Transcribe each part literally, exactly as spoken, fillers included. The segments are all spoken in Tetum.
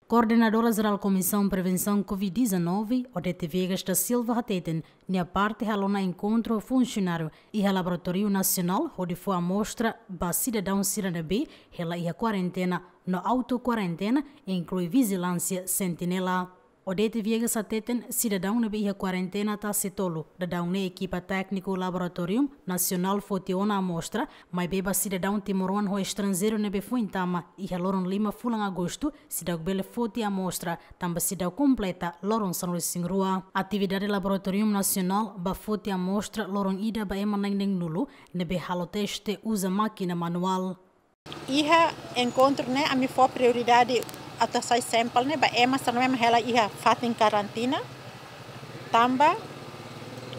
Koordenadora Jerál Komisaun Prevensaun covid dezanove, Odete Viegas da Silva hateten, nia parte halo ona enkontru ho funsionáriu iha Laboratóriu Nasionál hodi fó amostra ba sidadaun sira ne'ebé hela iha kuarentena no auto-kuarentena, inklui vijilánsia sentinela. Odete Viegas hateten, sidadaun ne'ebé iha kuarentena tasi tolu, daudaun ne'e ekipa tékniku Laboratóriu Nasionál foti ona amostra, maibé ba sidadaun timoroan ho estranjeiru ne'ebé foin tama iha loron lima fulan Agostu, seidauk bele foti amostra, tanba seidauk kompleta loron sanulu-resin-rua. Atividade Laboratóriu Nasionál ba foti amostra loron ida ba ema na'in-neenulu ne'ebé halo teste uza mákina manuál. Iha enkontru ne'e ami fó prioridade atu hasai sampel ne'e ba ema sira ne'ebé hela iha fatin karantina. Tanba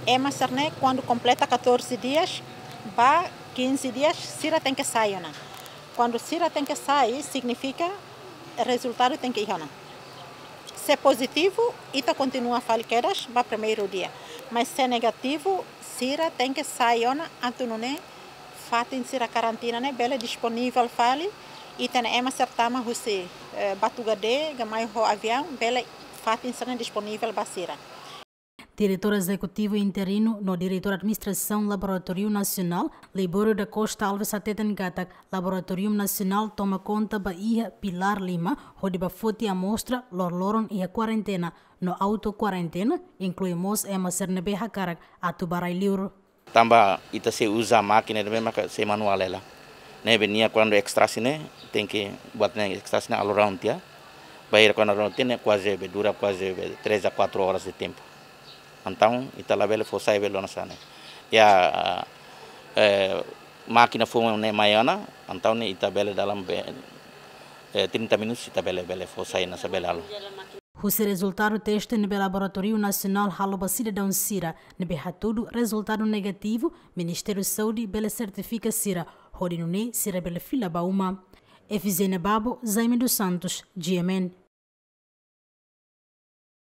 ema sira ne'e kuandu kompleta catorze dias ba quinze dias, sira tenke sai ona. Kuandu sira tenke sai, signifika rezultadu tenke iha ona. Se pozitivu, ita kontinua fali kedas ba primeiru dia. Mas se negativu, sira tenke sai ona atu nune'e fatin sira karantina ne'e bele disponivel fali. Ita-nia ema sira tama husi, eh, Batugade, ka mai ho aviaun, bele fatin sira ne'e disponivel ba sira. Diretór Ezekutivu Interinu no Diretór Administrasaun Laboratóriu Nasionál, Libório da Costa Alves hateten katak Laboratóriu Nasionál toma konta ba iha pilár lima, hodi ba foti amostra loroloron iha kuarentena no auto-kuarentena, inklui mós ema sira ne'ebé hakarak atu ba rai-liur. Tanba ita sei uza mákina ne'ebé maka sei manuál hela. Ne'ebé nia kuandu ekstraksi ne'e, tenke buat ne'e ekstraksi ne'e all around tiha. Bainhira kuandu all around tiha ne'e kuaze be dura kuaze be três a quatro horas de tempo. Entaun, ita labele fó sai be lona sá ne'e. Ya, eh, mákina foun ne'e mai ona, entaun ne'e ita bele dalam be, eh, trinta minutos ita bele, bele fó sai ona sá bele halo. Husi rezultadu teste ne'ebé Laboratóriu Nasionál halo ba sidadaun sira ne'ebé hatudu rezultadu negativu, Ministériu Saúde bele sertifika sira hodi nune'e sira bele fila ba uma. Efizénia Babo, Jaime dos Santos, G M N.